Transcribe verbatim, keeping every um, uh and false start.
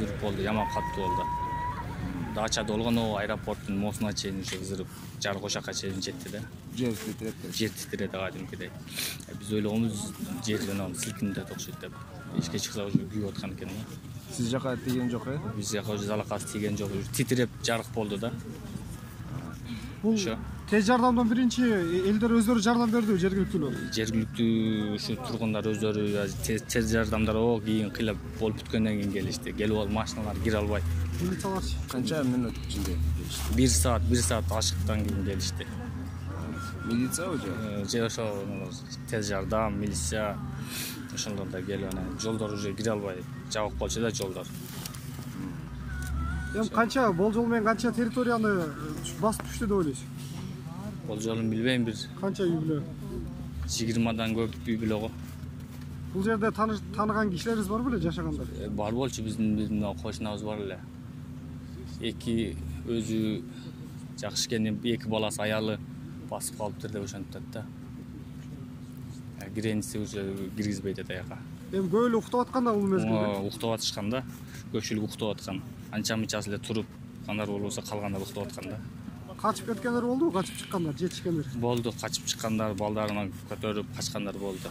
кыйдырып болду, яман катуу болду. Дачада болгону аэропорттун моосуна чейин ушу кыйдырып, жар кошакка чейин жетти да. Жер титирет. Жер титиреди кадимкидей. Биз ойлогонбуз жер жана силкинип окшойт деп. Эшикке чыкса уже күйүп аткан экен да. Сиз жака тийген жок э? Биз жака уже залакасы тийген жок, титиреп жарык болду да. Бул тез жардамдан биринчи элдер өздөрү жардам бердиби, жергиликтүүлөр? Жергиликтүү ушу тургундар өздөрү тез жардамдар о кийин кыйлап болуп бүткөндөн кийин келишти. Келип алып машиналар кире албайт. Милицияларчы Канча мүнөт ичинде келишти? бир саат, бир саат ашыктан кийин келишти. Милициябы же? Же ошо тез жардам, милиция ошондор да келип анан жолдор уже кире албай жабык болчу да жолдор. Эми канча болжол менен канча территорияны басып түштү деп ойлойсуз? Болжолун билбейм, бир Канча үй бүлө? жыйырмадан көп үй бүлө го. Бул жерде тааныган кишилериз бар беле жашагандар? Бар болчу, биздин биздин кошунабыз бар эле. Эки өзү жакшы экен, эки баласы, аялы басып калыптыр деп ошентет да. Кирениси уже киргизбейт аяка. Эми көп эле уктап аткан да бул мезгилде? Уктап атышкан да. Көпчүлүк уктап аткан. Анча мынчасы эле туруп, кандай болбосо калгандар уктап аткан да. Качып кеткендер болдубу? Качып чыккандар, жетишкендер? Болду, качып чыккандар, балдарынан көтөрүп качкандар болду.